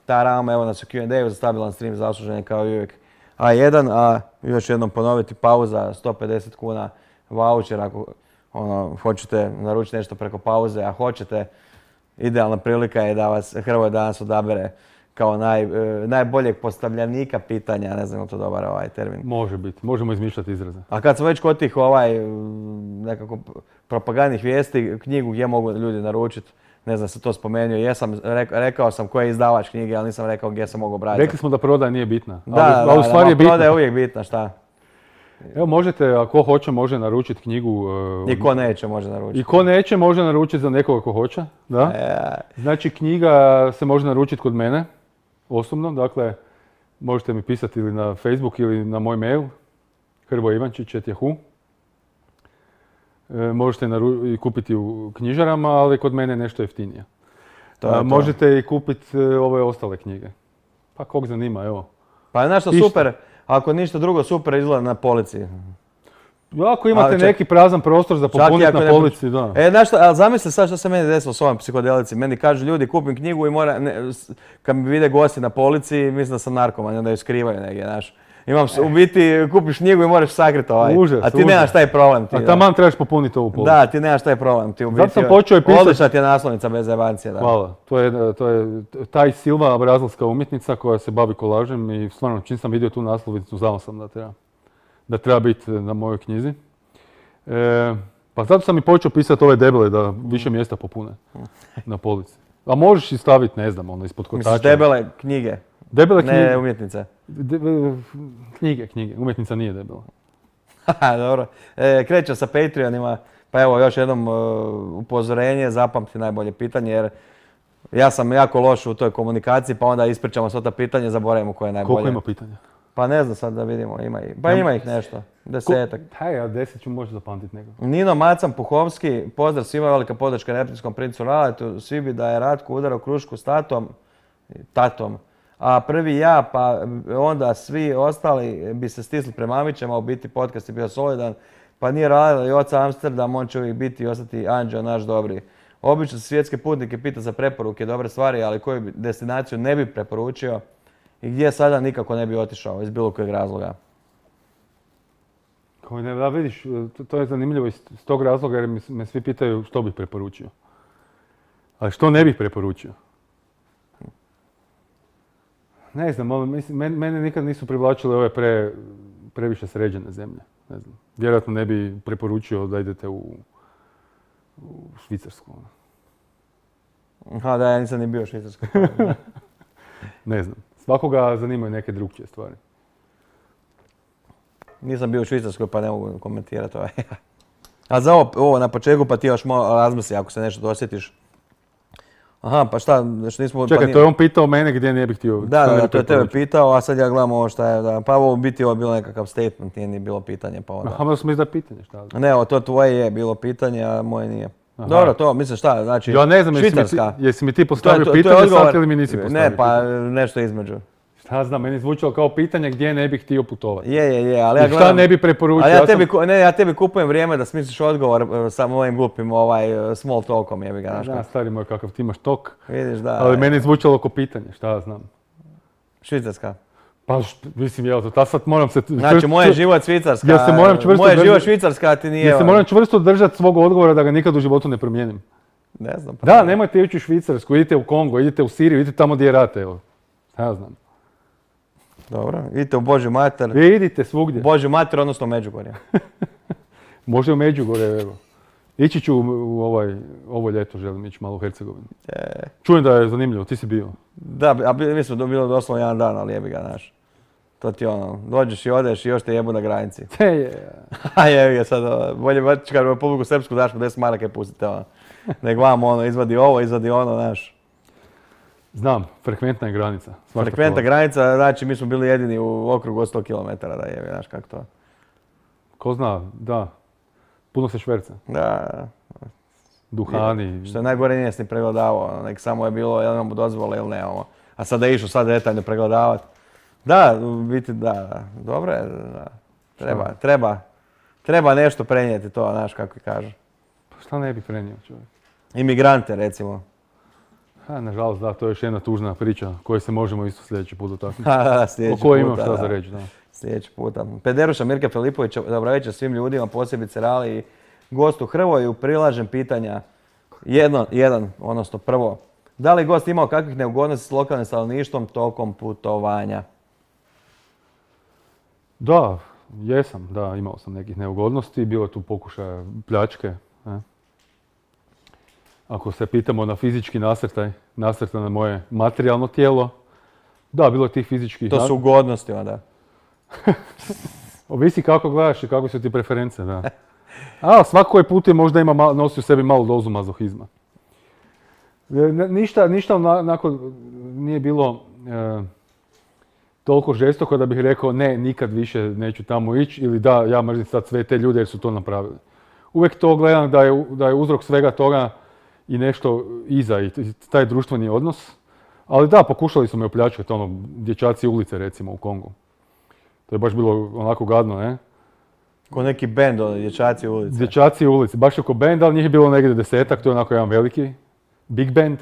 Taram, evo nas u Q&A za stabilan stream, zaslužen kao i uvijek A1, a još jednom ponoviti pauza, 150 kuna voucher ako hoćete naručiti nešto preko pauze, a hoćete, idealna prilika je da vas Hrvoje danas odabere kao najboljeg postavljanika pitanja, ne znam je li to dobar ovaj termin. Može biti, možemo izmišljati izraze. A kad smo već kod tih nekako propagandnih vijesti, knjigu gdje mogu ljudi naručiti, ne znam se to spomenuo, rekao sam koji je izdavač knjige, ali nisam rekao gdje se mogu obratiti. Rekli smo da prodaja nije bitna, ali u stvari je bitna. Prodaja je uvijek bitna, šta? Evo možete, ako hoće, može naručiti knjigu. I ko neće može naručiti. I ko neće može naručiti za nekoga ko hoće, da? Znači knjiga se može naručiti kod mene, osobno, dakle možete mi pisati ili na Facebook ili na moj mail, hrvoivančić@yahoo. Možete i kupiti u knjižarama, ali kod mene je nešto jeftinije. Možete i kupiti ove ostale knjige. Pa kog zanima, evo. Pa je nešto super, ako ništa drugo super izgleda na polici. Ako imate neki prazan prostor za popuniti na polici, da. Znaš ali zamisli sad što se meni desilo s ovom psihodelici. Meni kažu ljudi kupim knjigu i kad mi vide gosti na polici, mislim da sam narkoman, onda ju skrivaju negdje, znaš. U biti kupiš knjigu i moraš sakriti a ti nemaš taj problem. A taman trebaš popuniti ovu policu. Da, ti nemaš taj problem. Zato sam počeo i pisati. Odlična ti je naslovnica bez zajebancije. Hvala. To je taj Silva, brazilska umjetnica koja se bavi kolažem i stvarno čim sam vidio tu naslovnicu znao sam da treba biti na mojoj knjizi. Pa zato sam i počeo pisati ove debele da više mjesta popune na polici. A možeš i staviti, ne znam, ispod kotača. Misliš debele knjige? Debele knjige. Ne umjetnice. Knjige. Umjetnica nije debela. Dobro. Krećem sa Patreonima. Pa evo još jednom upozorenje, zapamti najbolje pitanje jer ja sam jako loš u toj komunikaciji pa onda ispričamo sva ta pitanja, zaboravimo koje je najbolje. Koliko ima pitanja? Pa ne znam sad da vidimo, ima ih nešto, 10-ak. Ja 10 ću možda zapamtiti nekog. Nino Macan Puhovski, pozdrav svima, velika podrška Reptilskom princu Raletu, svi bi da je Ratko udarao krušku s tatom, a prvi ja, pa onda svi ostali bi se stisli prema Mamićem, a u biti podcast je bio solidan, pa nije Rale i oca Amsterdam, on će uvijek biti i ostati anđeo naš dobri. Obično se svjetske putnike pita za preporuke, dobre stvari, ali koju destinaciju ne bi preporučio i gdje sada nikako ne bi otišao iz bilo kojeg razloga. Da vidiš, to je zanimljivo iz tog razloga jer me svi pitaju što bih preporučio. Ali što ne bih preporučio? Ne znam, mene nikad nisu privlačile ove previše sređene zemlje. Ne znam. Vjerojatno ne bi preporučio da idete u Švicarsku. Aha, da, ja nisam ni bio u Švicarskoj. Ne znam. Svakoga zanimaju neke drugčije stvari. Nisam bio u Švicarskoj pa ne mogu komentirati ovaj. A za ovo na početku pa ti još malo razmisli ako se nešto dosjetiš. Aha, pa šta, što nismo... Čekaj, to je on pitao mene gdje ne bih htio... Da, to je tebe pitao, a sad ja gledam ovo šta je... Pa ovo biti ovo bilo nekakav statement, nije ni bilo pitanje pa onda... Aha, da smo izdali pitanje, šta? Ne, to tvoje je bilo pitanje, a moje nije. Dobro, to, mislim šta, znači, ja ne znam, Švicarska. Jesi mi ti postavio pitanje sad ili mi nisi postavio pitanje? Ne, pa nešto između. Šta znam, meni zvučalo kao pitanje gdje ne bih htio putovati. Je, ali ja gledam... Šta ne bi preporučio? Ja tebi kupujem vrijeme da smisliš odgovor sa mojim glupim small talkom, jebi ga, znaš. Da, stari moj, kakav ti imaš tok. Vidiš, da. Ali meni zvučalo kao pitanje, šta ja znam. Švicarska. Pa, mislim, jel to, sad moram se... Znači, moj život Švicarska, život Švicarska ti nije... Ja se moram čvrsto držati svog odgovora da ga nikad u životu ne promijenim. Ne znam. Pa da, nemojte ići u Švicarsku, idite u Kongo, idite u Siriju, idite tamo gdje je rat, evo. Ja znam. Dobro, idite u Božju mater. Idite svugdje. Božju mater, odnosno u Međugorje. Može u Međugorje, evo. Ići ću u ovo ljeto, želim ići malo u Hercegovinu. Čujem da je zanimljivo, ti si bio. Da, a mi smo bilo doslovno jedan dan, ali jebi ga, znaš. To ti dođeš i odeš i još te jebu na granici. A jebi ga sad, bolje čekaj u Republiku Srpsku daš mu 10 maraka i pustite nek vam izvadi ovo, izvadi ono, znaš. Znam, frekventna je granica. Frekventna granica, znači mi smo bili jedini u okrugu od 100 km, da jebi, znaš kako to. Ko zna, da. Puno se šverca. Da. Duhani. Što je najgore nije se ni pregledavao, nek samo je bilo jel imamo dozvole ili ne ovo. A sada je išao sad detaljno pregledavati. Da, u biti da, dobro je, treba nešto prenijeti to, znaš kako kažu. Pa šta ne bi prenio čovjek? Imigrante recimo. Nažalost, da, to je još jedna tužna priča koju se možemo isto sljedeći put dotaknuti. Sljedeći O kojoj puta, imam šta za da. reći, da. Sljedeći puta. Pederuša Mirka Filipovića, dobro večer svim ljudima, posebice Rali i gostu Hrvoju. Prilažem pitanja. Odnosno prvo. Da li gost imao kakvih neugodnosti s lokalnim stanovništvom tokom putovanja? Da, jesam, da, imao sam nekih neugodnosti, bilo je tu pokušaja pljačke. Ako se pitamo na fizički nasrtaj na moje materijalno tijelo, da, bilo je tih fizičkih... To su ugodnosti onda. Ovisi kako gledaš i kakve su ti preference, da. A svako koji put je možda nosi u sebi malu dozu mazohizma. Ništa onako nije bilo toliko žestoko da bih rekao ne, nikad više neću tamo ići ili da, ja mrzim sad sve te ljude jer su to napravili. Uvijek to gledam da je uzrok svega toga i nešto iza i taj društveni odnos. Ali da, pokušali su me opljačkati, dječaci ulice recimo u Kongu. To je baš bilo onako gadno, ne? Ko neki bend, dječaci ulice. Dječaci ulice, baš oko bend, ali njih je bilo negdje 10-ak, to je onako jedan veliki, big band.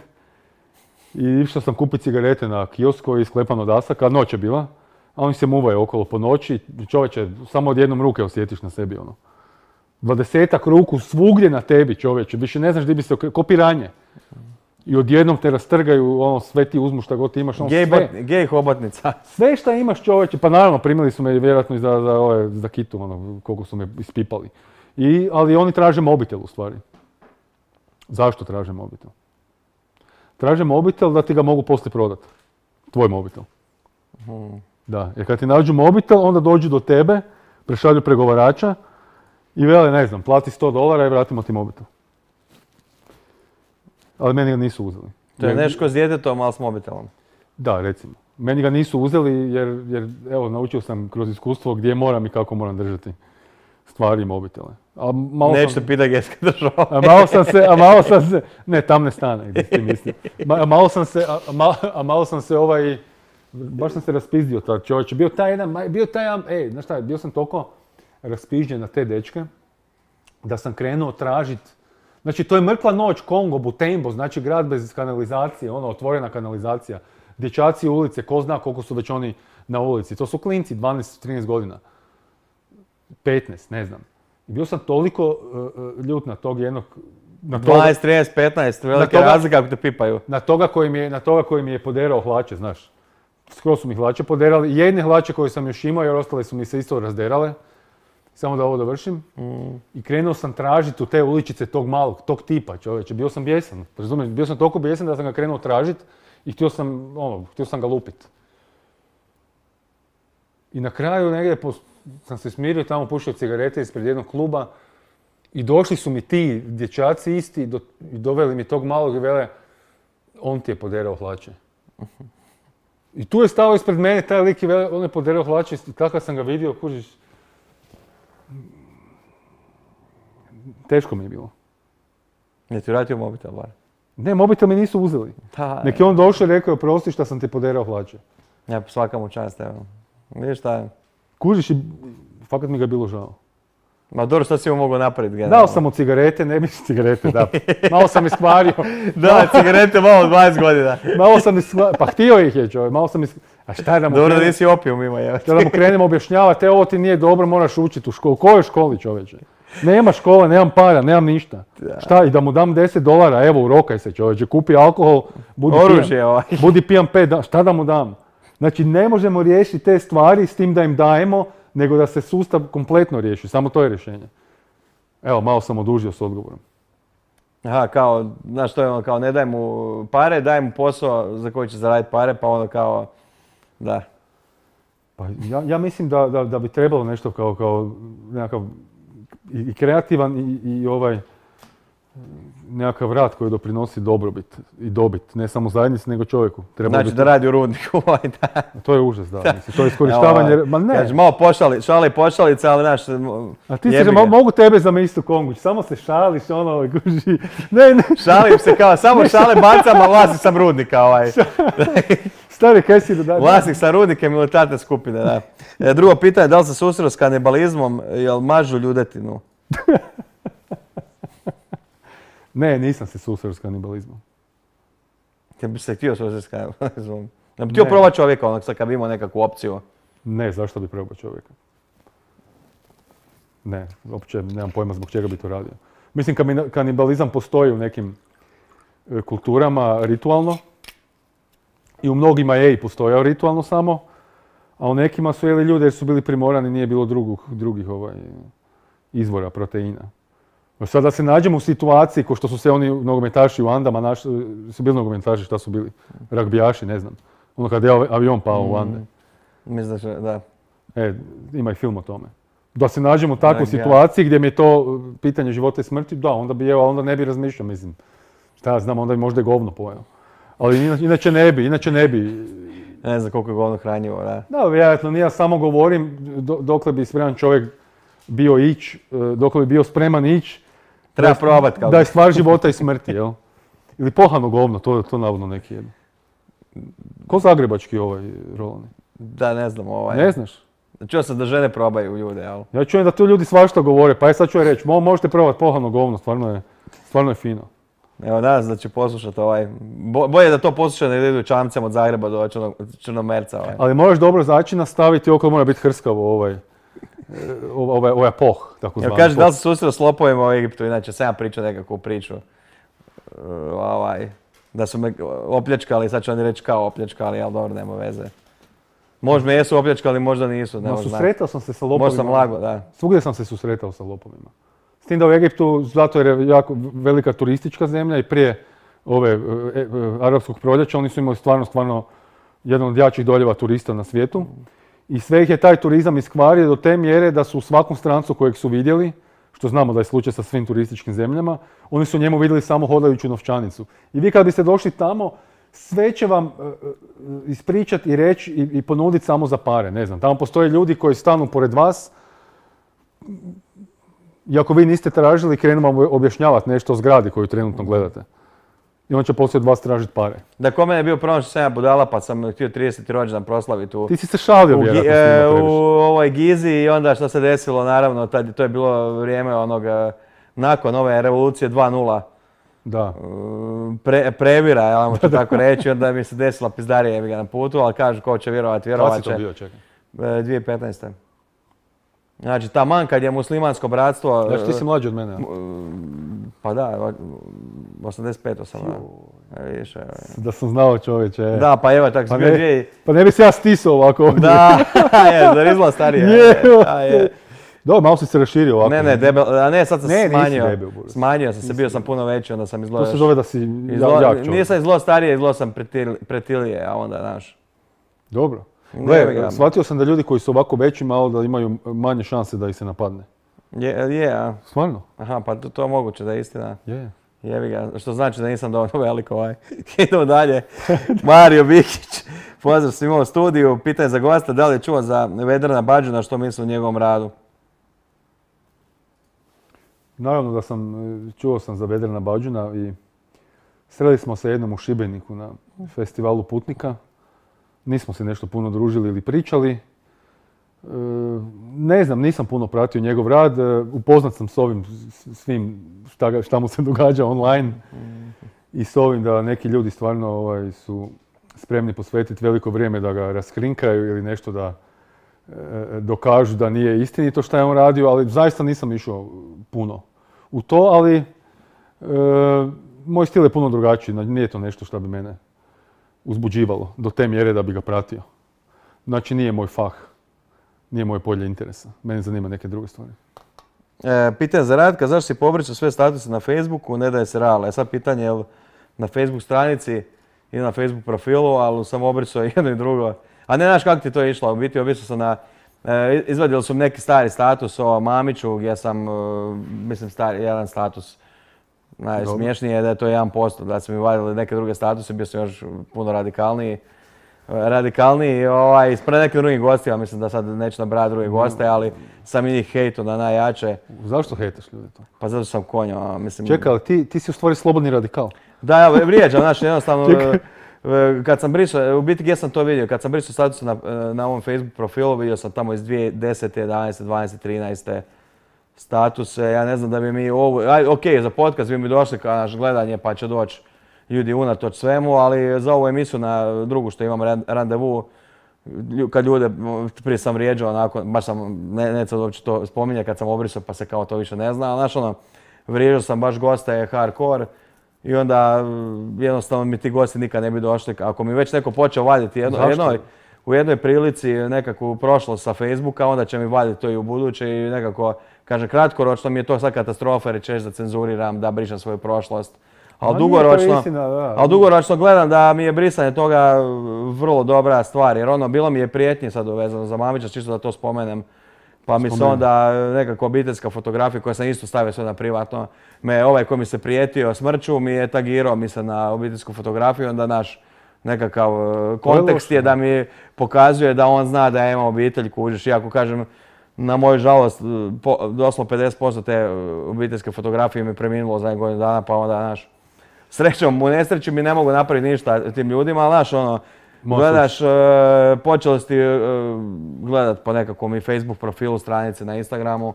I išao sam kupiti cigarete na kiosk koji je sklepan od asaka, noć je bila, a oni se muvaju okolo po noći, čovječe, samo od jednom ruke osjetiš na sebi, 20-ak ruku svugdje na tebi, čovječe, više ne znaš gdje bi se ko piranje. I odjednom te rastrgaju, sve ti uzmu šta god ti imaš, sve. Gej hobotnica. Sve šta imaš, čovječe, pa naravno primili su me vjerojatno i za kitu, koliko su me ispipali. Ali oni traže mobitel u stvari. Zašto traže mobitel? Traže mobitel da ti ga mogu poslije prodati. Tvoj mobitel. Da, jer kad ti nađu mobitel, onda dođu do tebe, prešalju pregovarača i vele, ne znam, plati $100 i vratimo ti mobitel. Ali meni ga nisu uzeli. To je nešto s djetetom, ali s mobitelom. Da, recimo. Meni ga nisu uzeli jer evo, naučio sam kroz iskustvo gdje moram i kako moram držati stvari i mobitele. Nećete pitati gdje ste držao. Malo sam se, ne, tam ne stane, gdje ti mislim. Malo sam se baš sam se raspizdio tad čovječe. Bio taj jedan, znaš šta, bio sam toliko raspižđen na te dečke da sam krenuo tražiti. Znači, to je mrtva noć, Kongo, Butembo, znači grad bez kanalizacije, otvorena kanalizacija. Dječaci ulice, ko zna koliko su već oni na ulici. To su klinci, 12-13 godina. 15, ne znam. I bio sam toliko ljut na tog jednog... 12, 13, 15, velike razlike ako te pipaju. Na toga koji mi je poderao hlače, znaš. Skoro su mi hlače poderali. Jedne hlače koje sam još imao jer ostale su mi se isto razderale. Samo da ovo dovršim. I krenuo sam tražiti u te uličice tog malog, tog tipa, čovječe. Bio sam bijesan, razumiješ? Bio sam toliko bijesan da sam ga krenuo tražiti i htio sam ga lupiti. I na kraju negdje sam se smirio, tamo pušio cigarete ispred jednog kluba i došli su mi ti dječaci isti i doveli mi tog malog i vele, on ti je poderao hlače. I tu je stao ispred mene taj lik i vele, on je poderao hlače i kakav sam ga vidio, kužiš. Teško mi je bilo. Ne ti vratio mobitel, bar? Ne, mobitel mi nisu uzeli. Nek je on došao i rekao, prosti šta sam ti poderao hlače. Ja, svaka mu čast, evo. Vidiš šta je? Kužiš i fakat mi ga je bilo žao. Ma dobro, šta si mu mogu napraviti? Dao sam mu cigarete, ne mislim cigarete, da. Malo sam iskvario. Da, cigarete malo 20 godina. Malo sam iskvario, pa htio ih je čovjek, malo sam iskvario. A šta da mu dobro, nisi opijum ima, je. Šta da mu krenem objašnjavati, ovo ti nije dobro, moraš učiti u školu. U kojoj školi, čovječe? Nema škole, nemam para, nemam ništa. Šta, i da mu dam $10, evo, urokaj se, čovječe, kupi alkohol, budi pijan 5 dana, šta da mu dam? Znači, ne možemo riješiti te stvari s tim da im dajemo, nego da se sustav kompletno riješi, samo to je rješenje. Evo, malo sam odužio s odgovorom. Aha, kao, znaš što je ono, kao ne daj mu pare, daj mu posao za koji će zaraditi pare, pa ono kao, da. Pa ja mislim da bi trebalo nešto kao nekakav i kreativan i nekakav rad koji doprinosi dobrobit i dobit, ne samo zajednici, nego čovjeku. Znači da radi u rudniku, da. To je užas, da. Mislim, to je iskorištavanje, ma ne. Znači, malo šali pošalica, ali znaš, a ti se, mogu tebe zamisliti u Kongu, samo se šališ, guži, ne. Šalim se kao, samo šale bacam, a vlasnik sam rudnika, Stari, kaj si da... Vlasnik sam rudnike militarne skupine, da. Drugo pitanje, da li se susreo s kanibalizmom, jel mažu ljudetinu? Ne, nisam se susreo s kanibalizmom. Ja bi se htio susresti kaj, ja bi htio probati čovjeka onak sad kad bi imao nekakvu opciju. Ne, zašto bi probao čovjeka? Ne, uopće nemam pojma zbog čega bi to radio. Mislim, kanibalizam postoji u nekim kulturama ritualno i u mnogima je i postojao ritualno samo, a u nekima su jeli ljudi jer su bili primorani, nije bilo drugih izvora proteina. Sad da se nađemo u situaciji ko što su se oni nogometaši u Andama, su bili nogometaši, šta su bili? Ragbijaši, ne znam. Ono kad je avion pao u Ande. Mislim da. Ima i film o tome. Da se nađemo u takvoj situaciji gdje mi je to pitanje života i smrti, da, onda ne bi razmišljao, mislim. Šta ja znam, onda bi možda i govno pojeo. Ali inače ne bi. Ne znam koliko je govno hranjivo, da. Da, vjerojatno, ja samo govorim dokle bi spreman čovjek bio dokle bi bio spreman ići. Treba probati. Da je stvar života i smrti, jel? Ili pohano govno, to navodno neki jedno. Ko zagrebački rolani? Da, ne znam Ne znaš? Čuo sam da žene probaju ljude, jel? Ja čujem da tu ljudi svašta govore, pa sad ću reći, možete probati pohano govno, stvarno je fino. Evo, nadam se da će poslušati bolje da to posluša nego da idu čamcem od Zagreba do Črnomerca. Ali moraš dobro začina staviti, okolo mora biti hrskavo ovaj poh, tako zvani. Kaže, da li se susreo s lopovima u Egiptu, inače sam ja pričao nekakvu priču. Da su me opljačkali, sad ću oni reći kao opljačkali, ali dobro, nema veze. Možda me jesu opljačkali, možda nisu, ne možda. Susretao sam se sa lopovima. Možda sam lago, da. Svugdje sam se susretao sa lopovima. S tim da u Egiptu, zato jer je jako velika turistička zemlja i prije arapskog proljeća, oni su imali stvarno jedan od jačih doljeva turista na svijetu. I sve ih je taj turizam iskvario do te mjere da su u svakom strancu kojeg su vidjeli, što znamo da je slučaj sa svim turističkim zemljama, oni su njemu vidjeli samo hodajuću novčanicu. I vi kad biste došli tamo, sve će vam ispričati i reći i ponuditi samo za pare, ne znam. Tamo postoje ljudi koji stanu pored vas, i ako vi niste tražili, krenu vam objašnjavati nešto o zgradi koju trenutno gledate. I on će poslije od vas tražiti pare. Da, kod mene je bio problem što sam ja budala, pa sam htio 30. rođendan proslaviti Ti si se šalio vjerojatno s njima previše. U ovoj Gizi i onda što se desilo, naravno, to je bilo vrijeme nakon ove revolucije 2.0. Da. Previra, ja vam ću tako reći, onda mi se desila pizdarija jebi ga na putu, ali kažu ko će vjerovat će. Kada si to bio, čekaj? 2015. Znači, taman kad je muslimansko bratstvo... Znači, ti si mlađi od mene. Pa da, 85 sam. Da sam znao čovječe. Da, pa evo, tako sam bio dvije... Pa ne bi se ja stisao ovako ovdje. Da, zar izgleda starije. Dobro, malo si se raširio ovako. Ne, debel, a ne, sad sam se smanjio. Nisi debel, Boris. Smanjio sam se, bio sam puno veći, onda sam izgledao... To se zove da si jak čovjek. Nisam izgledao starije, izgledao sam pretilije, a onda, znaš... Dobro. Gle, shvatio sam da ljudi koji su ovako veći malo da imaju manje šanse da ih se napadne. A? Stvarno? Aha, pa to je moguće da je istina. Je. Jebi ga, što znači da nisam dovoljno velik Idemo dalje. Mario Bikić, pozdrav svima u studiju. Pitanje za gosta, da li je čuo za Vedrana Bađuna, što misli o njegovom radu? Naravno da čuo sam za Vedrana Bađuna i sreli smo se jednom u Šibeniku na festivalu Putnika. Nismo se nešto puno družili ili pričali. Ne znam, nisam puno pratio njegov rad. Upoznat sam s ovim svim šta mu se događa online i s ovim da neki ljudi stvarno su spremni posvetiti veliko vrijeme da ga raskrinkaju ili nešto da dokažu da nije istinito šta je on radio, ali zaista nisam išao puno u to, ali moj stil je puno drugačiji, nije to nešto što bi mene uzbuđivalo do te mjere da bi ga pratio. Znači nije moj fah, nije moje polje interesa. Mene zanima neke druge stvari. Pitanje za Ratka, zašto si pobričao sve statuse na Facebooku, ne daje se real? Sad pitanje je na Facebook stranici i na Facebook profilu, ali sam obričao jedno i drugo. A ne znaš kako ti to išlo, u biti obrisao sam izvadili su neki stari status o Mamiću gdje sam, mislim, jedan status. Najsmiješnije je da je to 1%, da su mi vadili neke druge statuse, bio sam još puno radikalniji, ispred nekih drugih gostija, mislim da sad neću nabrati druge goste, ali sam i njih hejtu na najjače. Zašto hejtaš ljudi to? Pa zato što sam konja, mislim... Čekaj, ali ti si u stvari slobodni radikal. Da, ja vrijeđam, znači jednostavno, kad sam brisao, u biti gdje sam to vidio, kad sam brisao statuse na ovom Facebook profilu, vidio sam tamo iz 2010, 11, 12, 13 statuse, ja ne znam da bi mi ovo, ok, za podcast bi mi došli kao naš gledanje pa će doći ljudi unatoč svemu, ali za ovu emisiju na drugu što imam randevu, kad ljude, prije sam vrijeđao onako, baš sam, neću uopće to spominjati kad sam obrisao pa se kao to više ne zna, ali znaš ono, vrijeđao sam baš goste hardcore i onda jednostavno mi ti gosti nikad ne bi došli. Ako mi već neko počeo vaditi u jednoj prilici nekakvu prošlost sa Facebooka, onda će mi vaditi to i u buduće i nekako, kaže, kratkoročno mi je to sad katastrofa jer ćeš da cenzuriram, da brišem svoju prošlost. Ali dugoročno gledam da mi je brisanje toga vrlo dobra stvar, jer ono, bilo mi je prijetnje sad vezano za Mamića, čisto da to spomenem. Pa mi se onda nekako obiteljska fotografija koja sam isto stavio sve na privatno, ovaj koji mi se prijetio smrću mi je tagirao mi se na obiteljsku fotografiju, onda naš nekakav kontekst je da mi pokazuje da on zna da ja imam obitelj, kužiš. Iako kažem, na moju žalost, doslovno 50% te obiteljske fotografije mi je preminulo za godinu dana, pa onda, znaš, srećom, u nesreći mi ne mogu napraviti ništa tim ljudima, ali znaš, ono, gledaš, počeli si gledat po nekakvom i Facebook profilu, stranice na Instagramu,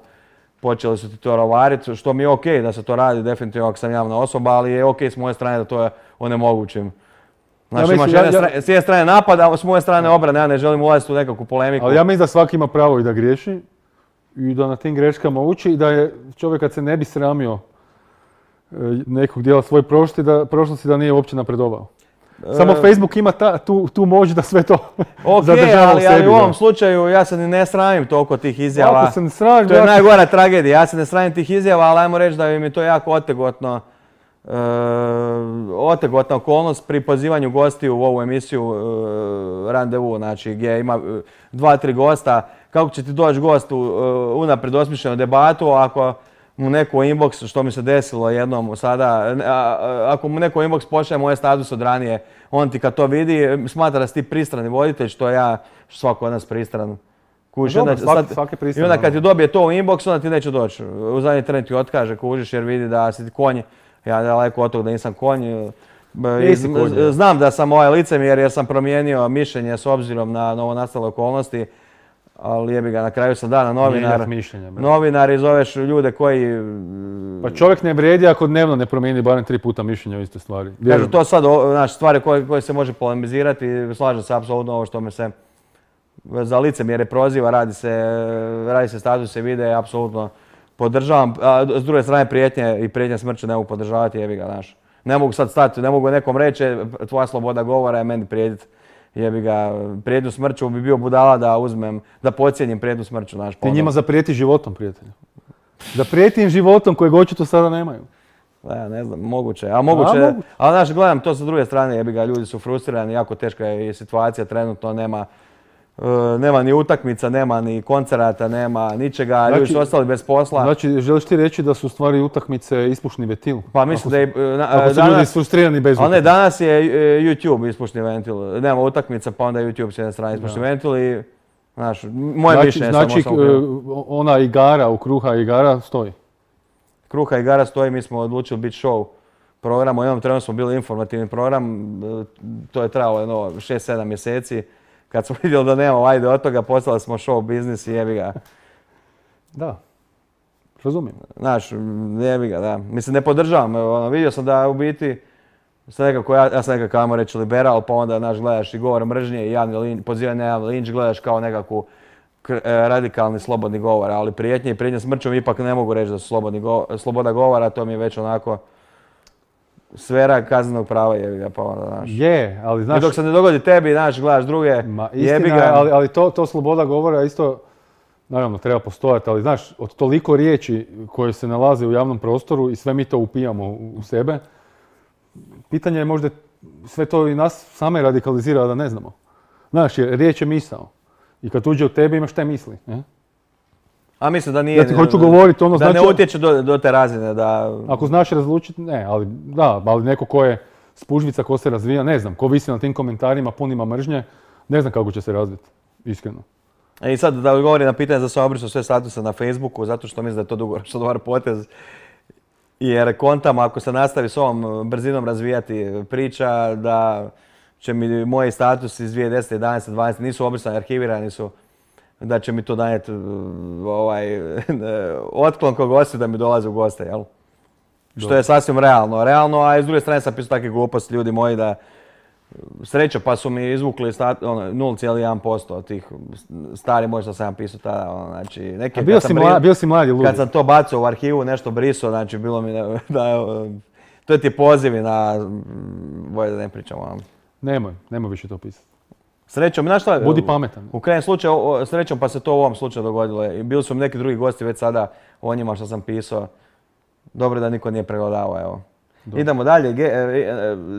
počeli su ti to rovariti, što mi je okej da se to radi, definitivno ako sam javna osoba, ali je okej s moje strane da to onemogućim. Znači imaš s jedne strane napad, a s moje strane obrane, ja ne želim ulaziti u nekakvu polemiku. Ali ja mislim da svaki ima pravo i da griješi i da na tim greškama uči i da je čovjek kad se ne bi sramio nekog dijela svoje prošlosti da nije uopće napredovao. Samo Facebook ima tu moć da sve to zadržava u sebi. Ali u ovom slučaju ja se ne sramim toliko tih izjava. Ako se ne sramim, to je najgora tragedija. Ja se ne sramim tih izjava, ali ajmo reći da mi je to jako otegotna okolnost pri pozivanju gostiju u ovu emisiju Randevu, znači gdje ima 2-3 gosta. Kako će ti doći gost u unaprijed osmišljenu debatu ako mu neko inbox, što mi se desilo jednom sada, ako mu neko inbox pošalje moje status od ranije, on ti kad to vidi smatra da si ti pristrani voditelj, što ja, svako od nas pristran. I onda kad ti dobije to u inbox, onda ti neće doći. U zadnji tren ti otkaže, kužiš, jer vidi da si ti konj. Ja daleko od toga da nisam konj. Znam da sam licemjer jer sam promijenio mišljenje s obzirom na novonastale okolnosti. Ali jebi ga, na kraju sam dana novinar i zoveš ljude koji... Pa čovjek ne vrijedi ako dnevno ne promijeni barem 3 puta mišljenje o iste stvari. Kažu, to sad, stvari koje se može polemizirati, slažem se apsolutno ovo što me se za licemjere proziva, radi se statuse, videe, apsolutno podržavam. A s druge strane prijetnje smrću ne mogu podržavati, jebi ga, znaš. Ne mogu sad stati, ne mogu nekom reći, tvoja sloboda govora je meni prijetiti. Jebi ga, prijetnju smrću bi bio budala da pocijenim prijetnju smrću, znaš. Ti njima zaprijeti životom, prijatelju. Da prijetim životom kojeg očito sada nemaju. Ne znam, moguće. Ali znaš, gledam to sa druge strane, jebi ga, ljudi su frustrirani, jako teška je situacija, trenutno nema ni utakmica, nema ni koncerata, nema ničega, ljudi su ostali bez posla. Znači, želiš ti reći da su u stvari utakmice ispušni ventil? Pa mislim da je... Ako su ljudi frustrirani bez utakmice. Ne, danas je YouTube ispušni ventil. Nema utakmica, pa onda je YouTube s jedne strane ispušni ventil i... Znaš, moje mišljenje samo sam ona igara, u Kruha igara stoji? Kruha igara stoji, mi smo odlučili biti show program. U jednom trenu smo bili informativni program, to je trajalo 6-7 mjeseci. Kad smo vidjeli da nemamo ajde od toga, postali smo show biznis i jebi ga. Da, razumijem. Znaš, jebi ga, da. Mislim, ne podržavam. Vidio sam da u biti, ja sam nekako, ajmo reći, liberal, pa onda, znaš, gledaš i govor mržnje i pozivanje na javni linč, gledaš kao nekakvu radikalni slobodni govor, ali prijetnje smrćom ipak ne mogu reći da su sloboda govora, to mi je već onako sfera kaznenog prava, jebi ga, pa onda, znaš. Je, ali znaš... I dok se ne dogodi tebi, znaš, gledaš druge, jebi ga. Ali to sloboda govora isto, naravno, treba postojati, ali znaš, od toliko riječi koje se nalaze u javnom prostoru i sve mi to upijamo u sebe, pitanje je možda sve to i nas same radikalizira da ne znamo. Znaš, riječ je misao. I kad uđe u tebe imaš te misli. A mislim da nije... Ja ti hoću govoriti ono znači... Da ne utječe do te razine, da... Ako znaš razlučiti, ne, ali neko ko je spužvica, ko se razvija, ne znam, ko visi na tim komentarima punima mržnje, ne znam kako će se razviti, iskreno. I sad da odgovori na pitanje za sam obrisao sve statuse na Facebooku, zato što mislim da je to dugoročno dobar potez. Jer kontam, ako se nastavi s ovom brzinom razvijati priča, da će mi moji statusi iz 2010, 11, 12 nisu obrisani, arhivirani su, da će mi to danijeti otklon kog gosti da mi dolaze u goste, jel? Što je sasvim realno, a s druge strane sam pisao takve gluposti, ljudi moji, da sreća pa su mi izvukli 0,1% od tih stari moj što sam ja pisao tada, znači neke... Bio si mladi ludi. Kad sam to bacao u arhivu, nešto brisao, znači bilo mi da to ti pozivi na... Bolje da ne pričam o vam. Nemoj više to pisati. Srećom, znaš šta? Budi pametan. U krajnjem slučaju, srećom pa se to u ovom slučaju dogodilo. I bili su mi neki drugi gosti već sada o njima što sam pisao. Dobro da niko nije pregledavao, evo. Dobro. Idemo dalje,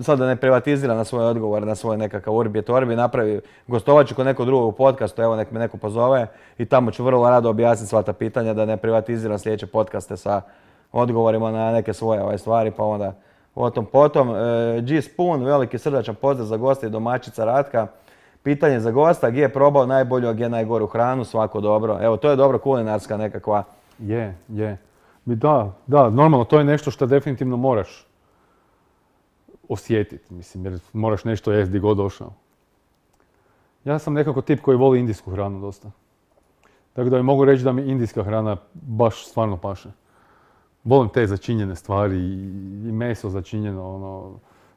sad da ne privatiziram na svoje odgovore, na svoj nekakav urbi et orbi, napravi gostovaću kod nekog drugog podcastu, evo nek me neko pozove i tamo ću vrlo rado objasniti sva ta pitanja, da ne privatiziram sljedeće podcaste sa odgovorima na neke svoje stvari, pa onda o tom potom. G Spoon, veliki srdačan pozdrav za gosta i domaćica Ratka. Pitanje za gosta, gdje je probao najbolju, a gdje najgoru hranu, svako dobro. Evo, to je dobro kulinarska nekakva. Je. Da, normalno, to je nešto što definitivno moraš osjetiti, mislim, jer moraš nešto jesti gdje god došao. Ja sam nekako tip koji voli indijsku hranu dosta. Tako da mogu reći da mi indijska hrana baš stvarno paše. Volim te začinjene stvari i meso začinjeno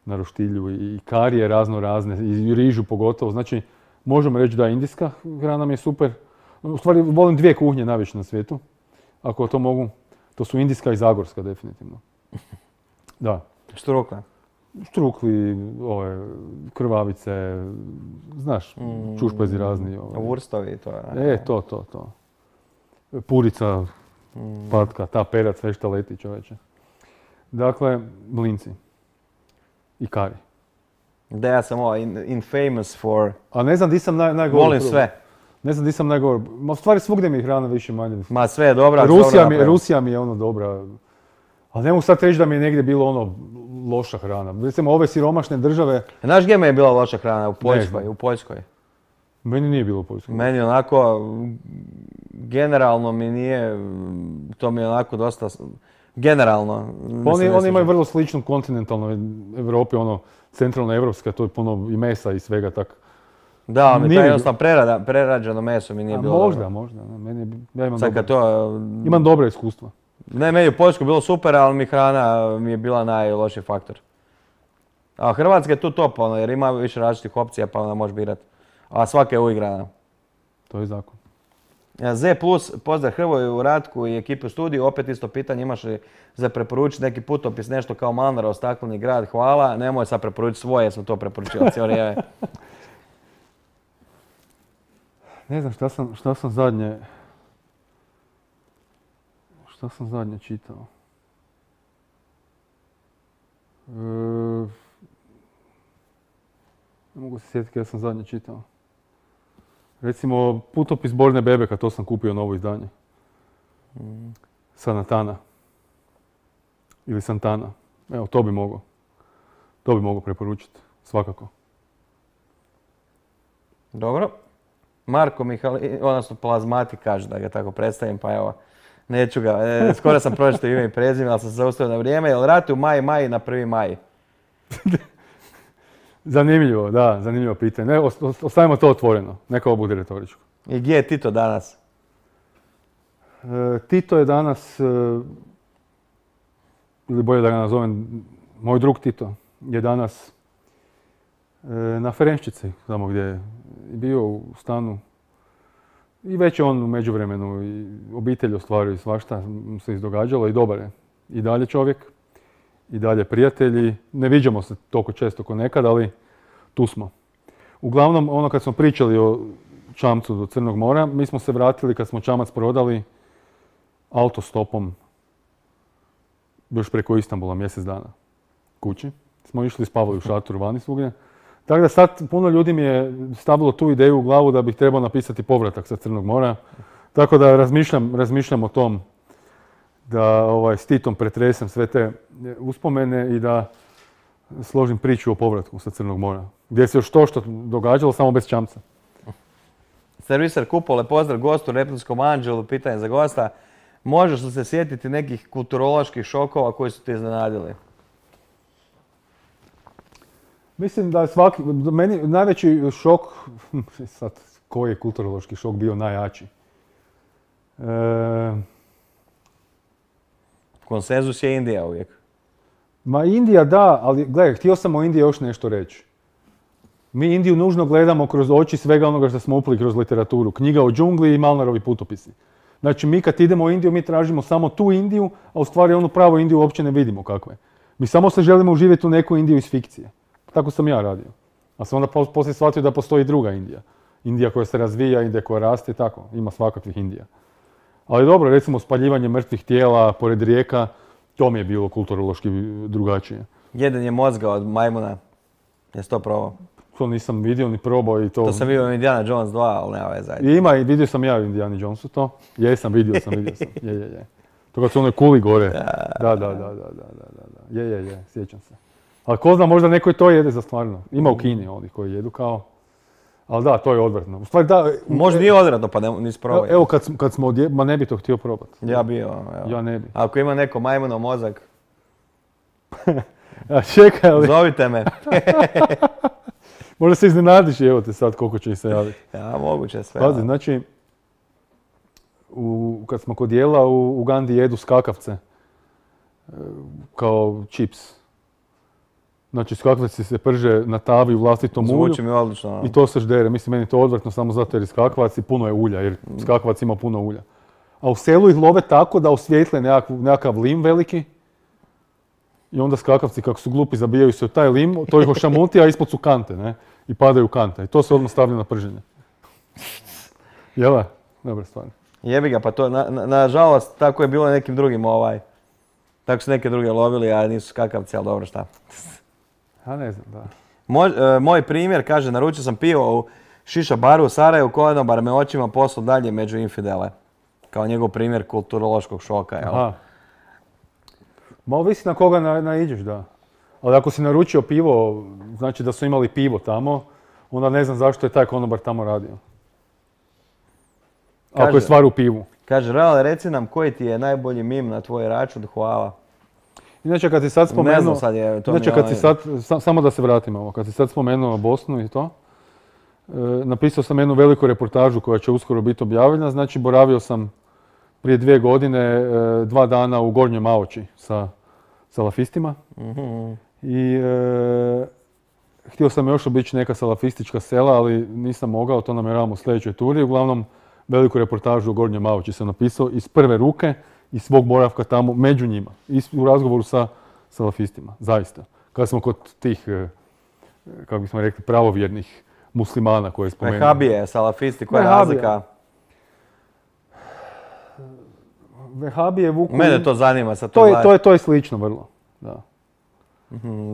na roštilju i karije razno razne i rižu pogotovo. Znači, možemo reći da indijska hrana mi je super. U stvari, volim dvije kuhnje najviše na svijetu, ako to mogu. To su indijska i zagorska, definitivno. Da. Štrukla? Štrukli, krvavice, znaš, čušpezi razni. Vurstovi, to je. To. Purica, patka, ta perac, sve što leti, čoveče. Dakle, mlinci. I kari. Da, ja sam infamous for... A ne znam di sam najgore. Volim sve. Ne znam di sam najgore. Ma u stvari svugdje mi je hrana više manje. Ma sve je dobra. Rusija mi je dobra. Ali ne mogu sad reći da mi je negdje bilo loša hrana. Recimo ove siromašne države... Znaš gdje mi je bila loša hrana? U Poljskoj. Meni nije bilo u Poljskoj. Meni onako, generalno mi nije, to mi je onako dosta, generalno. Oni imaju vrlo sličnu kontinentalnoj Evropi, centralna evropska, to je puno i mesa i svega tak. Da, mi to jednostavno prerađeno meso mi nije bilo možda. Imam dobra iskustva. Ne, meni u Poljskoj bilo super, ali hrana mi je bila najlošiji faktor. A Hrvatska je tu top, jer ima više različitih opcija, pa onda možeš birati. A svaka je uigrana. To je zakon. Z+, pozdrav Hrvoju, Ratku i ekipu studiju. Opet isto pitanje, imaš li za preporučiti neki putopis, nešto kao Malnarov stakleni grad? Hvala. Nemoj sad preporučiti svoje, jer sam to preporučila cijelo vrijeme. Ne znam šta sam zadnje... Šta sam zadnje čitao? Ne mogu se sjetiti kada sam zadnje čitao. Recimo, putopis Borne Bebeka, to sam kupio novo izdanje. Sanatana. Ili Santana. Evo, to bi mogao preporučiti, svakako. Dobro. Marko Mihali, odnosno Plazmati kaže da ga tako predstavim, pa evo, neću ga, skoro sam pročitao ime i prezime, ali sam se zaustavio na vrijeme. Jel ratuju maj na 1. maj? Zanimljivo, da, zanimljivo pitanje. Ne, ostavimo to otvoreno, neka ovo bude retoričko. I gdje je Tito danas? Tito je danas, ili bolje da ga nazovem, moj drug Tito je danas na Ferenščici, tamo gdje je bio u stanu. I već je on u međuvremenu i obitelj ostvario i svašta se izdogađalo i dobar je. I dalje čovjek, i dalje prijatelji. Ne viđamo se toliko često ko nekad, ali tu smo. Uglavnom, kad smo pričali o čamcu do Crnog mora, mi smo se vratili kad smo čamac prodali autostopom još preko Istanbula mjesec dana kući. Smo išli, spavali u šatoru vani svugdje. Tako da sad puno ljudi mi je stavilo tu ideju u glavu da bih trebao napisati povratak sa Crnog mora. Tako da razmišljam o tom da s Titom pretresem sve te uspomene i da složim priču o povratku sa Crnog mora. Gdje se još to što događalo, samo bez čamca. Serviser Kupole, pozdrav gostu, Reptilskom anđelu, pitanje za gosta. Možeš li se sjetiti nekih kulturoloških šokova koji su te iznenadili? Mislim da meni najveći šok, sad koji je kulturološki šok bio najjači? Konsenzus je Indija uvijek. Ma Indija da, ali gledaj, htio sam o Indiji još nešto reći. Mi Indiju nužno gledamo kroz oči svega onoga što smo upali kroz literaturu. Knjiga o džungli i Malnarovi putopisi. Znači mi kad idemo u Indiju, mi tražimo samo tu Indiju, a u stvari onu pravu Indiju uopće ne vidimo kakva je. Mi samo se želimo uživjeti u neku Indiju iz fikcije. Tako sam ja radio. A sam onda poslije shvatio da postoji druga Indija. Indija koja se razvija, Indija koja raste, tako. Ima svakakvih Indija. Ali dobro, recimo spaljivanje mrtvih tijela pored rijeka, to mi je bilo kulturološki drugačije. Jedenje mozga od majmuna. Jesi to probao? To nisam vidio ni probao i to... To sam vidio u Indiana Jones 2, ali nema veze. Ima i vidio sam ja u Indiana Jonesu to. Jesam, vidio sam. Je. To kad su onoj kuli gore. Da. Je, sjećam se. Ali ko zna, možda neko i to jede za stvarno. Ima u Kini onih koji jedu kao... Ali da, to je odvratno. U stvari da... Možda nije odvratno, pa nisi probao. Evo kad smo ma ne bi to htio probati. Ja bi, evo. Ja ne bi. Ako ima neko majmunov mozak... Čekaj, ali... Zovite me. Možda se iznenadiš i evo te sad koliko će ih se javiti. Ja, moguće sve. Pazi, znači, kad smo kod jela u Ugandi jedu skakavce kao čips. Znači skakavci se prže na tavi u vlastitom ulju. Zvuči mi odlično. I to se ždere. Mislim, meni je to odvratno samo zato jer je skakavac i puno je ulja, jer skakavac ima puno ulja. A u selu ih love tako da osvijetle nekakav lim veliki. I onda skakavci, kako su glupi, zabijaju se u taj lim, to ih ošamuti, a ispod su kante, ne? I padaju kante. I to se odmah stavlja na prženje. Jel' dobra stvar. Jebi ga, pa to, nažalost, tako je bilo nekim drugim Tako su neke druge lovili, a nisu skakavci, ali dobro, šta. Ja ne znam, da. Moj primjer, kaže, naručio sam pivo u šiša baru u Sarajevu, konobar me očima poslao dalje među infidele. Kao njegov primjer kulturološkog šoka, jel? Aha. Ma ovisi na koga naiđeš, da. Ali ako si naručio pivo, znači da su imali pivo tamo, onda ne znam zašto je taj konobar tamo radio. Ako je stvar u pivu. Kaže, Reale, reci nam koji ti je najbolji mim na tvoj račun, hvala. Inače, kad si sad spomenuo... Ne znam sad je, to inače, kad si sad, samo da se vratim ovo, kad si sad spomenuo Bosnu i to, napisao sam jednu veliku reportažu koja će uskoro biti objavljena, znači boravio sam prije 2 godine, 2 dana u Gornjoj Maoči sa salafistima. I htio sam još obići neka salafistička sela, ali nisam mogao, to namjeravam u sljedećoj turi. Uglavnom, veliku reportažu u Gornjoj Maoči sam napisao iz prve ruke, iz svog boravka tamo, među njima. I u razgovoru sa salafistima, zaista. Kad smo kod tih, kako bismo rekli, pravovjernih muslimana koje je spomenuo. Vehabije, salafisti, koja je razlika? Vehabije vuku... Mene to zanima sad. To je slično vrlo, da.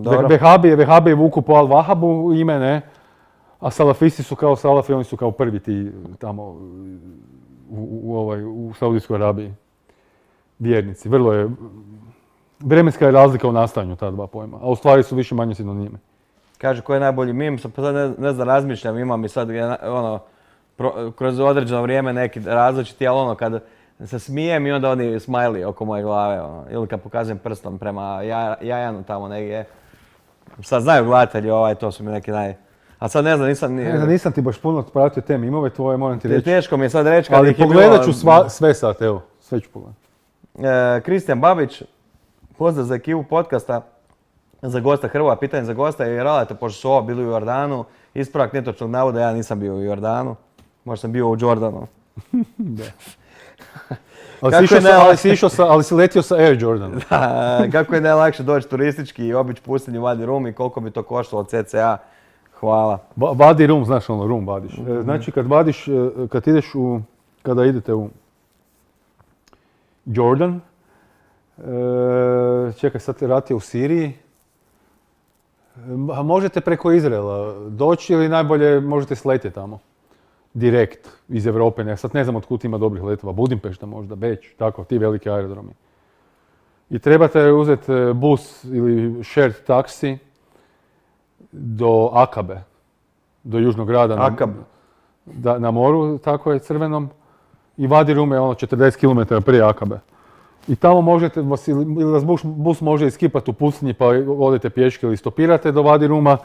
Dobro. Vehabije vuku po Al-Wahabu ime, ne? A salafisti su kao salafi, oni su kao prvi ti tamo u Saudijskoj Arabiji. Vjernici. Vrlo je... Vremenska je razlika u nastajanju ta dva pojma, a u stvari su više manje sinonime. Kaže, koji je najbolji mim, sad ne znam, razmišljam, imam i sad kroz određeno vrijeme neki različiti, ali kad se smijem i onda oni smiley oko moje glave, ili kad pokazujem prstom prema Jajanu tamo negdje. Sad znaju gledatelji, to su mi neki A sad ne znam, nisam ti baš puno pratio te mimove tvoje, moram ti reći. Teško mi je sad reći kad ali ih je bilo... Ali pogledat ću sve sad, evo, sve ću pogledati. Kristijan Babić, pozdrav za ekipu podcasta, za gosta Hrvoja, pitanje za gosta i Raleta, pošto su ovo bili u Jordanu, ispravak netočnog navoda, ja nisam bio u Jordanu, možda sam bio u Jordanu. Da. Ali si letio sa Air Jordan. Da, kako je najlakše doći turistički i obići pustinju Vadi Rum i koliko bi to koštalo CCA? Hvala. Vadi Rum, znaš rum vadiš. Znači kada idete u Jordan, čekaj sad rat je u Siriji, možete preko Izraela doći ili najbolje možete sletjeti tamo. Direkt iz Europe, sad ne znam otkud ima dobrih letova, Budimpešta možda, Beč, tako, ti veliki aerodromi. I trebate uzeti bus ili shared taksi do Akabe, do južnog grada na moru, tako je, crvenom. I Vadi Rum je 40 km prije Akabe. I tamo možete, ili vas bus može iskipati u pustinji pa odete pješke ili stopirate do Vadi Ruma,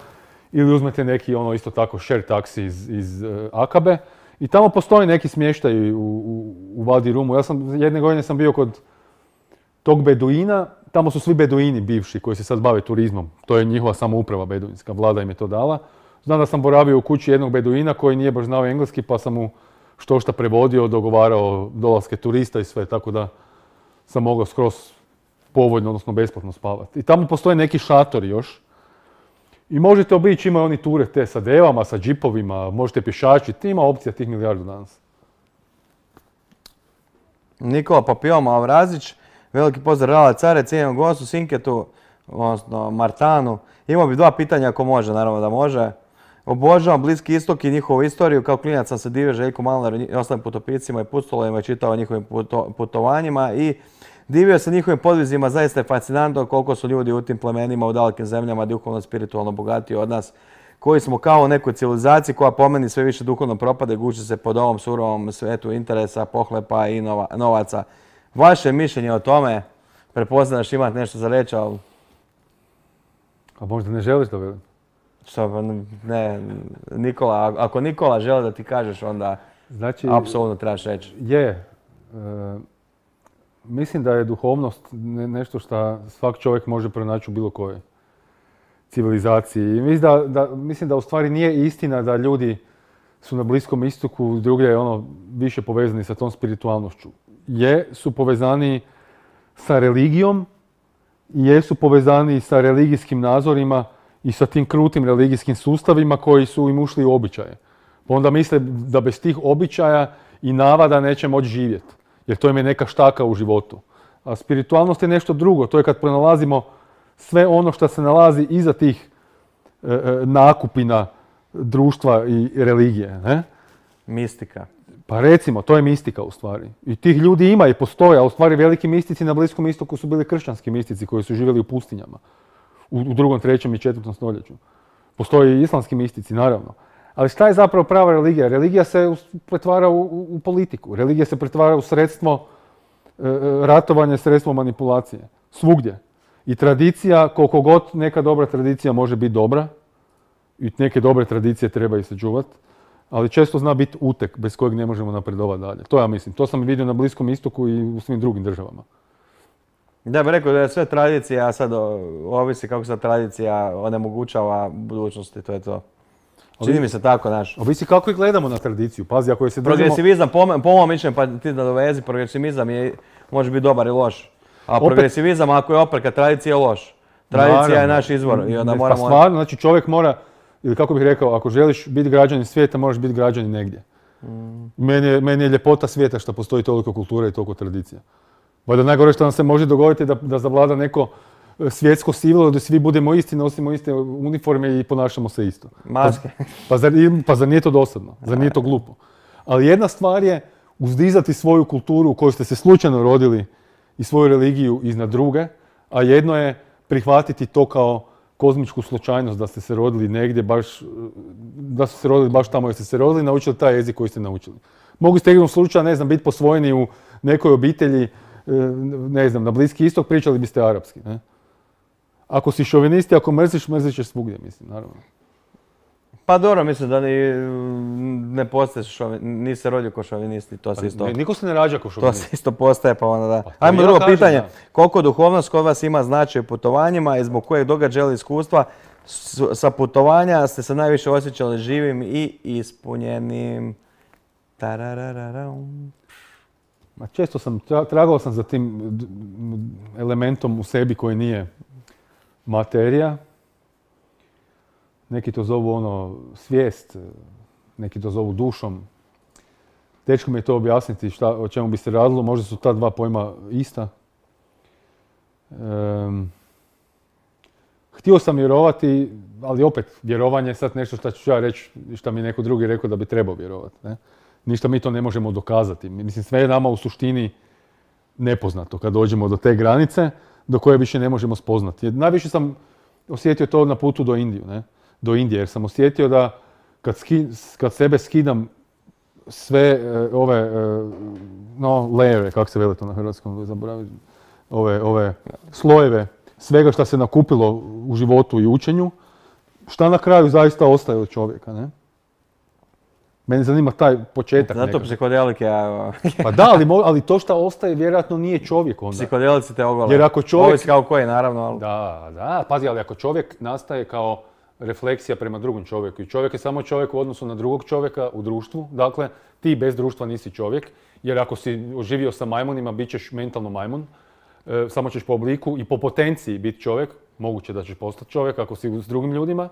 ili uzmete neki isto tako share taksi iz Akabe. I tamo postoji neki smještaj u Vadi Rumu. Jedne godine sam bio kod tog Beduina tamo su svi beduini bivši koji se sad bave turizmom. To je njihova samouprava beduinska, vlada im je to dala. Znam da sam boravio u kući jednog beduina koji nije baš znao engleski, pa sam mu što prevodio, dogovarao dolaske turista i sve, tako da sam mogao skroz povoljno, odnosno besplatno spavati. I tamo postoje neki šatori još. I možete obići, imaju oni ture te sa devama, sa džipovima, možete pješačiti, ima opcija tih milijardu danas. Nikola Papillon Avrazić, veliki pozdrav Rala Care, cijenjenom gostu, Sinketu, odnosno Martanu. Imao bi 2 pitanja ako može, naravno da može. Obožavam Bliski istok i njihovu istoriju. Kao klinac sam se divio Željku Malnaru i ostalim putopiscima i pustolovima i čitao o njihovim putovanjima i divio se njihovim podvizima. Zaista je fascinantno koliko su ljudi u tim plemenima u dalekim zemljama duhovno spiritualno bogatiji od nas, koji smo kao u nekoj civilizaciji koja po meni sve više duhovno propade, guši se pod ovom surovom svetu interesa, pohlepa i novaca. Vaše mišljenje o tome, prepoznaš, imate nešto za reći, ali... A možda ne želiš da velim? Što, ne, Nikola, ako Nikola želi da ti kažeš, onda znači, apsolutno trebaš reći. Mislim da je duhovnost nešto što svak čovjek može pronaći u bilo kojoj civilizaciji. I mislim da u stvari nije istina da ljudi su na Bliskom istoku drugdje više povezani sa tom spiritualnošću. Su povezani sa religijom i jesu povezani sa religijskim nazorima i sa tim krutim religijskim sustavima koji su im ušli u običaje. Pa onda misle da bez tih običaja i navada neće moći živjeti, jer to im je neka štaka u životu. A spiritualnost je nešto drugo, to je kad pronalazimo sve ono što se nalazi iza tih nakupina društva i religije. Ne? Mistika. Pa recimo, to je mistika u stvari. I tih ljudi ima i postoje, a u stvari veliki mistici na Bliskom istoku su bili kršćanski mistici koji su živjeli u pustinjama. U 2., 3. i 4. stoljeću. Postoje i islamski mistici, naravno. Ali šta je zapravo prava religija? Religija se pretvara u politiku. Religija se pretvara u sredstvo ratovanja, sredstvo manipulacije. Svugdje. I tradicija, koliko god neka dobra tradicija može biti dobra, i neke dobre tradicije treba i sačuvati, ali često zna biti uteg bez kojeg ne možemo napredovati dalje. To ja mislim. To sam vidio na Bliskom istoku i u svim drugim državama. Da bih rekao da je sve tradicija, a sad ovisi kako se tradicija onemogućava budućnosti, to je to. Čini mi se tako, znaš. Ovisi kako i gledamo na tradiciju. Pazi, ako je se držimo... Progresivizam, po mom mišljenju, pa ti nadovezi, progresivizam može biti dobar i loš. A progresivizam, ako je opreka, tradicija je loš. Tradicija je naš izvor i onda moramo... Pa stvarno, znači čovjek mora, ili kako bih rekao, ako želiš biti građanin svijeta, moraš biti građanin negdje. Meni je ljepota svijeta što postoji toliko kulture i toliko tradicija. Valjda najgore što nam se može dogoditi da zavlada neko svjetsko sivilo, da svi budemo isti, nosimo iste uniforme i ponašamo se isto. Maske. Pa zar nije to dosadno? Zar nije to glupo? Ali jedna stvar je uzdizati svoju kulturu u kojoj ste se slučajno rodili i svoju religiju iznad druge, a jedno je prihvatiti to kao kozmičku slučajnost da ste se rodili negdje da ste se rodili baš tamo jer ste se rodili i naučili taj jezik koji ste naučili. Mogli ste igrom slučaja, ne znam, biti posvojeni u nekoj obitelji, ne znam, na Bliski istok, pričali biste arapski, ne? Ako si šovinisti, ako mrziš, mrzit ćeš svugdje, mislim, naravno. Pa dobro, mislim da ne postaješ nisi se rodio ko šovinisti, to se isto... Niko se ne rađa ko šovinist. To se isto postaje, pa onda da. Ajmo drugo pitanje. Koliko duhovnost kod vas ima značaj u putovanjima i zbog kojeg događaja ili iskustva sa putovanja ste se najviše osjećali živim i ispunjenim? Često tragao sam za tim elementom u sebi koji nije materija. Neki to zovu svijest, neki to zovu dušom. Teško mi je to objasniti o čemu bi se radilo, možda su ta 2 pojma ista. Htio sam vjerovati, ali opet, vjerovanje je sad nešto što ću ja reći, što mi neko drugi rekao da bi trebao vjerovati. Ne? Ništa mi to ne možemo dokazati. Mislim, sve je nama u suštini nepoznato kad dođemo do te granice do koje više ne možemo spoznati. Najviše sam osjetio to na putu do Indije, jer sam osjetio da kad sebe skidam sve ove lejeve, kako se vele to na hrvatskom, zaboravim, ove slojeve, svega što se nakupilo u životu i učenju, šta na kraju zaista ostaje od čovjeka, ne? Mene zanima taj početak Zato nekako. psihodelike, Pa da, ali to što ostaje vjerojatno nije čovjek onda. psihodelici te ogole. Jer ako čovjek... Ovisi kao koji, naravno, ali... Da, pazi, ali ako čovjek nastaje kao refleksija prema drugom čovjeku i čovjek je samo čovjek u odnosu na drugog čovjeka u društvu, dakle, ti bez društva nisi čovjek, jer ako si oživio sa majmunima, bit ćeš mentalno majmun, samo ćeš po obliku i po potenciji biti čovjek, moguće da ćeš postati čovjek ako si s drugim ljudima.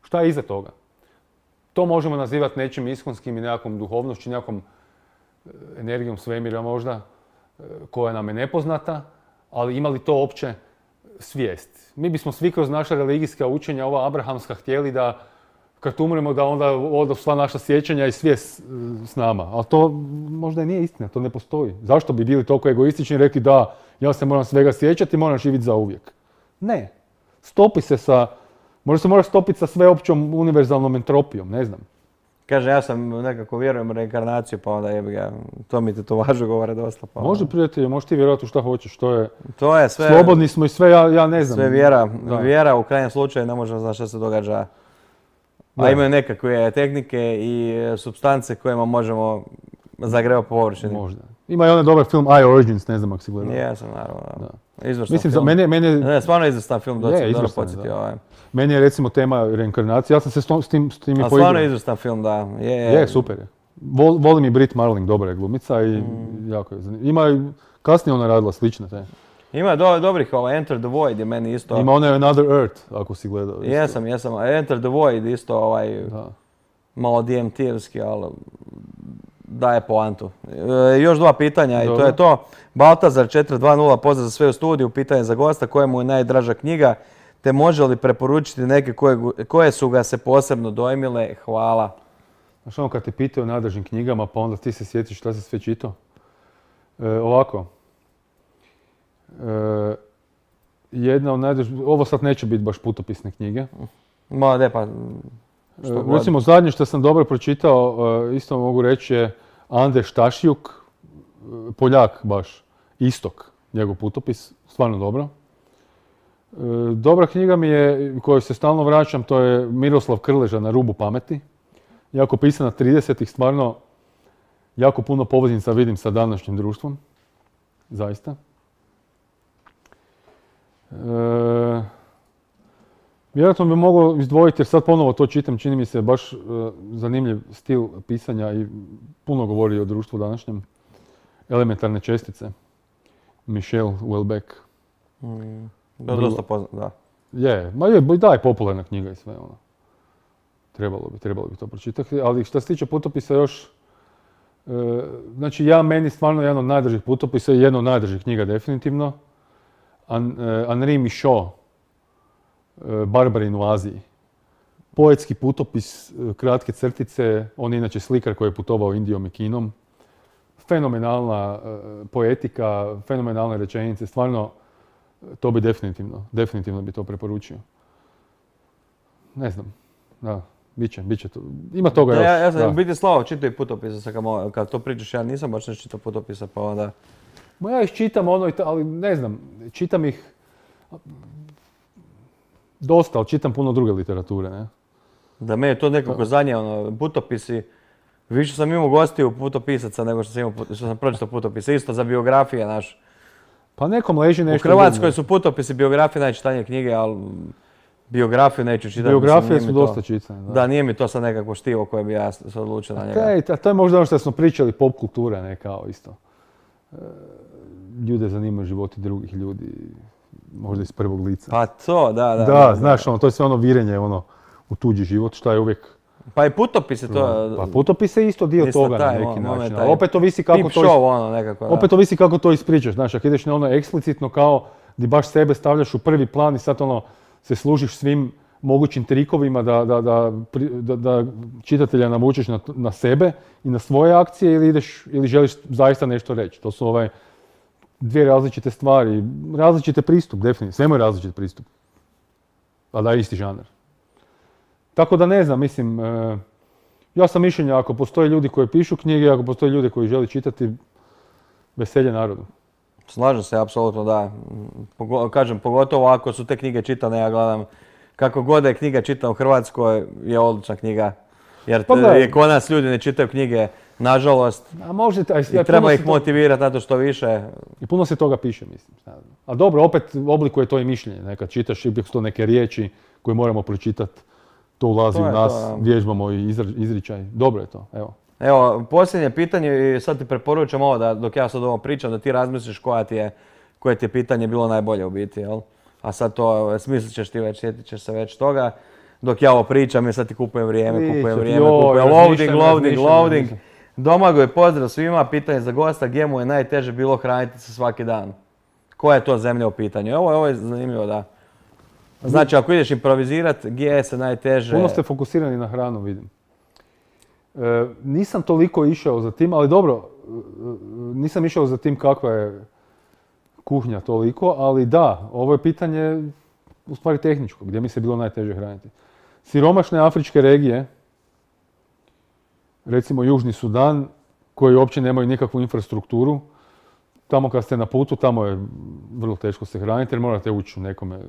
Šta je iza toga? To možemo nazivati nečim iskonskim i nekakvom duhovnošću, nekakvom energijom svemira možda, koja nam je nepoznata, ali ima li to opće svijest? Mi bismo svi kroz naša religijska učenja, ova abrahamska, htjeli da kad umremo da onda odu sva naša sjećanja i svijest s nama. Ali to možda i nije istina, to ne postoji. Zašto bi bili toliko egoistični i rekli da ja se moram svega sjećati i moram živjeti za uvijek? Ne. Stopi se sa... Možda se mora stopiti sa sveopćom univerzalnom entropijom, ne znam. Kaže, ja sam nekako vjerujem u reinkarnaciju, pa onda jebi ga, to mi te to važno govore dosta. Pa Može, prijatelju, možeš ti vjerovati u šta hoćeš, to je sve... Slobodni smo i sve, ja ne znam. Sve vjera. Da. Vjera u krajnjem slučaju ne možemo znati šta se događa. A imaju nekakve tehnike i supstance kojima možemo zagrevati po površini. Možda. Ima i onaj dobar film I Origins, ne znam ako si gledao. Jesam, naravno. Da. Izvrstan Mislim, film. Ne, stvarno izvrstan film, dobro podsjetio. Meni je recimo tema reinkarnacije, ja sam se s tim i poigrao. Stvarno izvrstan film, da. Je, super je. Volim i Brit Marling, dobra je glumica i jako je zanimljiva. Ima i kasnije ona radila slične te. Ima dobrih, Enter the Void je meni isto... Ima onaj Another Earth, ako si gledao. Jesam. Enter the Void isto malo DMT-evski, ali daje poantu. Još dva pitanja i to je to. Baltazar 420, pozdrav za sve u studiju, pitanje za gosta, koja mu je najdraža knjiga, te može li preporučiti neke koje su ga se posebno dojmile? Hvala. Znaš ono kad te pitaju o najdražim knjigama, pa onda ti se sjetiš šta si sve čitao? Ovako. Jedna od najdražih, ovo sad neće biti baš putopisne knjige. Ma ne pa... Recimo zadnje što sam dobro pročitao, isto mogu reći je Ande Štašjuk, Poljak baš, Istok, njegov putopis, stvarno dobro. Dobra knjiga mi je, kojoj se stalno vraćam, to je Miroslav Krleža Na rubu pameti. Jako pisana 30-ih, stvarno jako puno poveznica vidim sa današnjim društvom, zaista. Vjerojatno bi mogao izdvojiti, jer sad ponovo to čitam, čini mi se baš zanimljiv stil pisanja i puno govori o društvu današnjem. Elementarne čestice. Michel Houellebecq. Dosta poznat, da. Da, je popularna knjiga i sve ono. Trebalo bi to pročitati, ali što se tiče putopisa još, znači meni stvarno jedan od najdražih putopisa i jedna od najdražih knjiga definitivno. Henri Michaud, Barbarin u Aziji. Poetski putopis, kratke crtice, on je inače slikar koji je putovao Indijom i Kinom. Fenomenalna poetika, fenomenalne rečenice, stvarno to bi definitivno bi to preporučio. Ne znam, da, bit će to. Ima toga još. Ja sam u biti Slavo čitao i putopisa, kad to pričaš, ja nisam baš ne čitao putopisa, pa onda... Ja ih čitam ali ne znam, čitam ih dosta, ali čitam puno druge literature, ne? Da me je to nekako zadnje, putopisi, više sam imao gostiju putopisaca nego što sam pročitao putopise, isto za biografije, naš. Pa nekom leži nešto... U Hrvatskoj su putopisi, biografije, najčitanije knjige, ali biografiju neću čitati. Biografije su dosta čitane, da. Da, nije mi to sad nekako štivo koje bi ja se odlučio na njega. To je možda ono što smo pričali, pop kultura, ne kao isto. Ljude zanimaju životi drugih ljudi, možda iz prvog lica. Pa to, da. Da, znaš, to je sve ono virenje u tuđi život, šta je uvijek... Pa i putopis je to... Pa putopis je isto dio toga na neki način. Opet ovisi kako to ispričaš. Znaš, ako ideš na ono eksplicitno kao di baš sebe stavljaš u prvi plan i sad se služiš svim mogućim trikovima da čitatelja navučeš na sebe i na svoje akcije ili želiš zaista nešto reći. To su dvije različite stvari, različite pristup, definitivno. Svemu je različit pristup. A da je isti žanar. Tako da ne znam, mislim, ja sam mišljenja ako postoje ljudi koji pišu knjige, ako postoje ljudi koji žele čitati, veselje narodu. Slažem se, apsolutno da. Kažem, pogotovo ako su te knjige čitane, ja gledam kako god je knjiga čitana u Hrvatskoj, je odlična knjiga. Jer Pa gledaj. kod nas ljudi ne čitaju knjige, nažalost, A može, i treba ih motivirati na to što više. I puno se toga piše, mislim. A dobro, opet oblikuje to i mišljenje. Nekad čitaš, ipak su to neke riječi koje moramo pročitati. To ulazi u nas, vježbamo i izričaj. Dobro je to, evo. Evo, posljednje pitanje i sad ti preporučam ovo da dok ja sad ovo pričam, da ti razmisliš koje ti je pitanje bilo najbolje u biti, jel? A sad to smislit ćeš ti već, sjetit ćeš se već toga. Dok ja ovo pričam, ja sad ti kupujem vrijeme, loading. Domagoj, pozdrav svima, pitanje za gosta, gdje mu je najteže bilo hraniti se svaki dan? Koja je to zemlja u pitanju? Ovo je zanimljivo, da. Znači, ako ideš improvizirati, gdje se najteže... Puno ste fokusirani na hranu, vidim. Nisam toliko išao za tim, ali dobro, nisam išao za tim kakva je kuhnja toliko, ali da, ovo je pitanje u stvari tehničko, gdje mi se bilo najteže hraniti. Siromašne afričke regije, recimo Južni Sudan, koji uopće nemaju nikakvu infrastrukturu, tamo kad ste na putu, tamo je vrlo teško se hraniti jer morate ući u nekome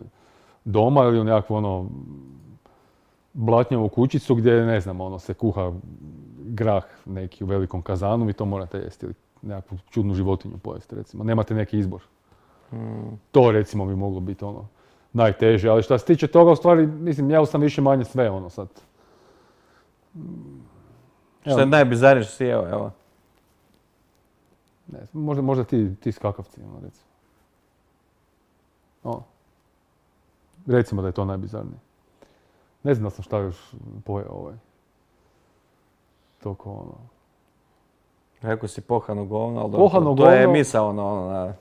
doma ili u nekakvu blatnjavu kućicu gdje, ne znam, se kuha grah neki u velikom kazanu i to morate jesti ili nekakvu čudnu životinju pojesti, recimo. Nemate neki izbor. To, recimo, bi moglo biti najteže, ali što se tiče toga, u stvari, mislim, ja sam više manje sve, sad. Što je najbizarnije što si jeo, evo? Ne, možda ti skakavci, recimo. Recimo da je to najbizarnije. Ne znam da sam šta još pojeo Toko Rekao si pohano govno, ali dobro, to je misao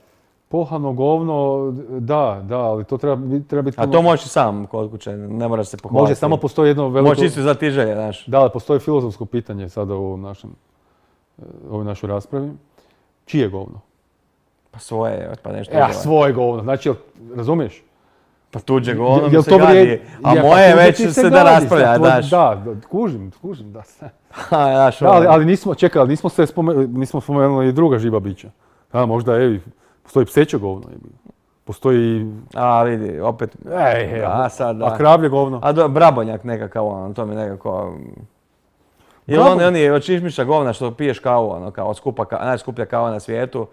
Pohano govno, da, ali to treba biti... A to možeš i sam kod kuće, ne moraš se pohvaliti. Može, samo postoji jedno veliko... Možeš isto znati želje, znaš. Da, postoji filozofsko pitanje sada u ovoj našoj raspravi. Čije govno? Pa svoje, pa nešto... Svoje govno, znači, razumiješ? Pa tuđe govno mi se gadi, a moje već se da raspravlja, daš. Da, kužim, da se. Ali nismo spomenuli i druga živa bića. Možda, postoji pseće govno. Postoji... A, vidi, opet... A kravlje govno? A brabonjak nekakav, to mi nekako... Ili oni od čišmiša govna što piješ kavu, kao najskuplja kava na svijetu.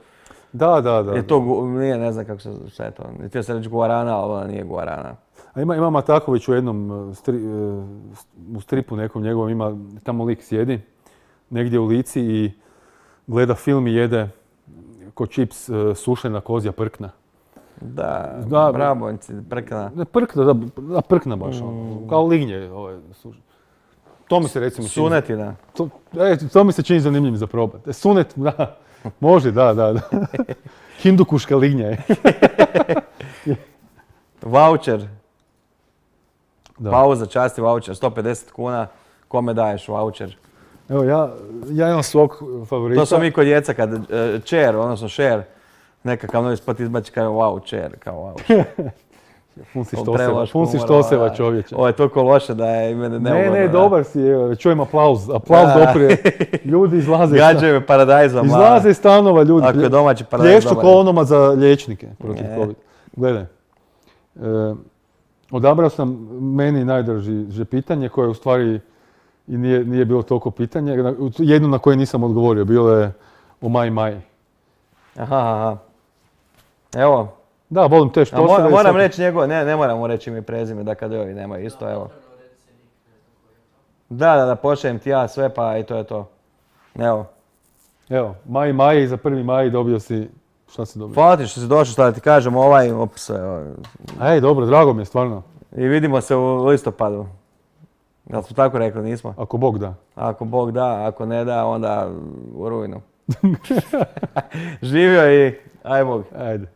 Da. Je to, nije, ne znam kako se sve to, htio se reći guarana, ali ona nije guarana. A ima Mataković u jednom u stripu nekom njegovom, ima, tamo lik sjedi, negdje u Lici i gleda film i jede ko čips sušena kozja prkna. Da, brabonjci, prkna. Prkna baš, kao lignje sušene. To mi se recimo čini... Sunetina. To mi se čini zanimljivim za probati. Sunet, da. Može, da. Hindukuška lignja je. Voucher. Pauza, časti voucher, 150 kuna. Kome daješ voucher? Evo, ja imam svog favorita. To smo mi kod djeca kad chair, odnosno share, nekakav novi spot izbači kao wow, chair, kao wow. Pun si štoseva, čovječe. Ovo je toliko loše da je mene neugodno. Ne, dobar si, čujem aplauz doprije. Ljudi izlaze. Gađaju me paradajzom. Izlaze iz stanova ljudi. Ako je domaći paradajz dobar. Plješću ko onoma za liječnike protiv COVID. Gledaj, odabrao sam meni najdraže pitanje koje u stvari i nije bilo toliko pitanje. Jedno na koje nisam odgovorio, bilo je o Maji. Aha. Evo. Da, volim te štoseve. Moram reći njegov, ne moram mu reći ime i prezime, da kada ovi nemaju isto, evo. Da, pošaljem ti ja sve, pa i to je to. Evo, Maji, za 1. maj dobio si, šta si dobio? Hvala ti što si došao, šta da ti kažem, dobro, drago mi je, stvarno. I vidimo se u listopadu. Jel smo tako rekli, nismo? Ako Bog da. Ako Bog da, ako ne da, onda u rujnu. Živio i aj Bog. Ajde.